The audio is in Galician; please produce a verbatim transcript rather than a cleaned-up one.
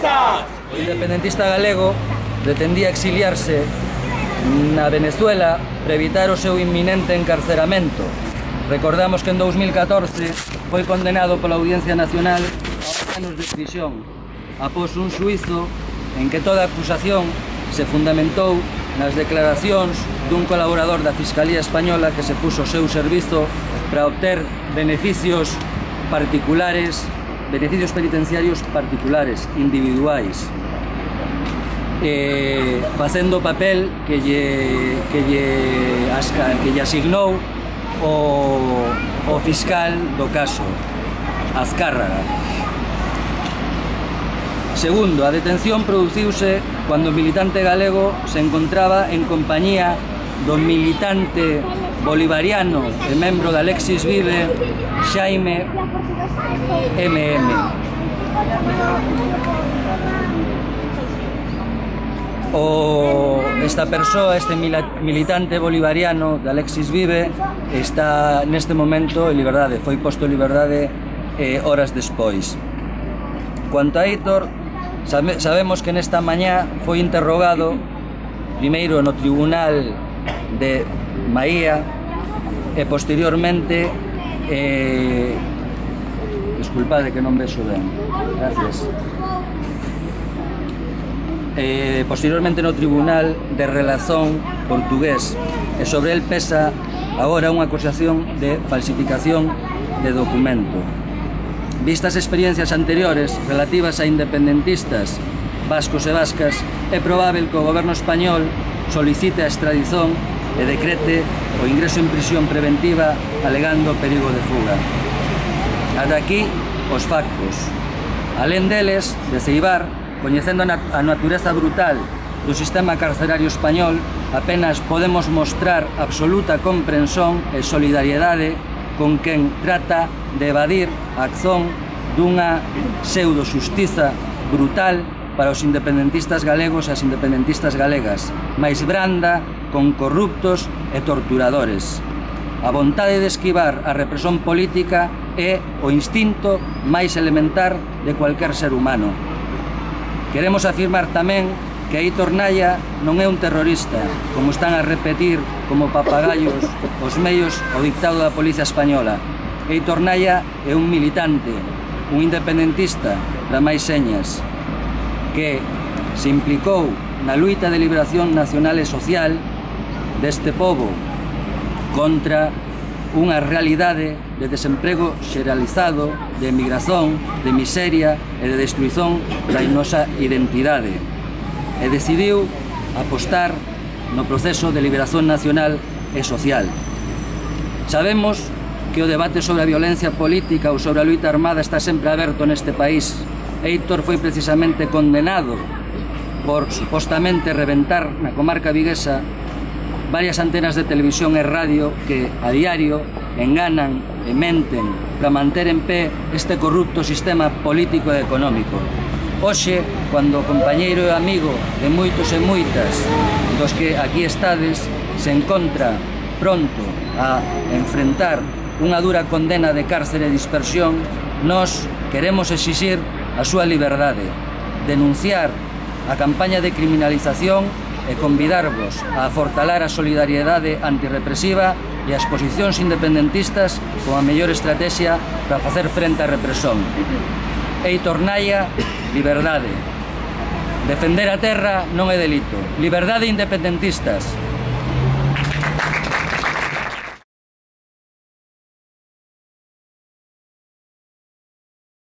independentistas! O independentista galego pretendía exiliarse na Venezuela para evitar o seu inminente encarceramento. Recordamos que en dous mil catorce foi condenado pola Audiencia Nacional a anos de prisión após un xuízo en que toda a acusación se fundamentou nas declaracións dun colaborador da Fiscalía Española que se puso ao seu servizo para obter beneficios particulares, beneficios penitenciarios particulares, individuais, eh, facendo o papel que lle, que lle, asca, que lle asignou o, o fiscal do caso, Azcárraga. Segundo, a detención produciuse cando o militante galego se encontraba en compañía do militante bolivariano e membro da Alexis Vive, Xaime M M. O, esta persoa, este militante bolivariano de Alexis Vive, está neste momento en liberdade, foi posto en liberdade eh, horas despois. Quanto a Héctor, sabe, sabemos que nesta mañá foi interrogado primeiro no tribunal de Maía e posteriormente eh, disculpade que non vexo ben, gracias. Eh, posteriormente no Tribunal de Relazón portugués e sobre el pesa agora unha acusación de falsificación de documento. Vistas experiencias anteriores relativas a independentistas vascos e vascas, é probável que o goberno español solicite a extradición e decrete o ingreso en prisión preventiva alegando perigo de fuga. Ata aquí os factos. Alén deles, de Ceibar, coñecendo a natureza brutal do sistema carcerario español, apenas podemos mostrar absoluta comprensión e solidariedade con quen trata de evadir a acción dunha pseudo-xustiza brutal para os independentistas galegos e as independentistas galegas, máis branda con corruptos e torturadores. A vontade de esquivar a represión política é o instinto máis elementar de cualquier ser humano. Queremos afirmar tamén que Héctor Naya non é un terrorista, como están a repetir como papagallos os medios o dictado da Policía Española. Héctor Naya é un militante, un independentista, para máis señas, que se implicou na luita de liberación nacional e social deste pobo contra unha realidade de desemprego xeralizado, de emigración, de miseria e de destruición da nosa identidade. E decidiu apostar no proceso de liberación nacional e social. Sabemos que o debate sobre a violencia política ou sobre a luita armada está sempre aberto neste país. Héctor foi precisamente condenado por supostamente reventar na comarca viguesa varias antenas de televisión e radio que a diario enganan e menten para manter en pé este corrupto sistema político e económico. Hoxe, cando o compañeiro e amigo de moitos e moitas dos que aquí estades se encontra pronto a enfrentar unha dura condena de cárcere e dispersión, nós queremos exixir a súa liberdade, denunciar a campaña de criminalización e convidarvos a afortalar a solidariedade antirrepresiva e as posicións independentistas como a mellor estrategia para facer frente á represión. Héctor Naya, liberdade. Defender a terra non é delito. Liberdade independentistas.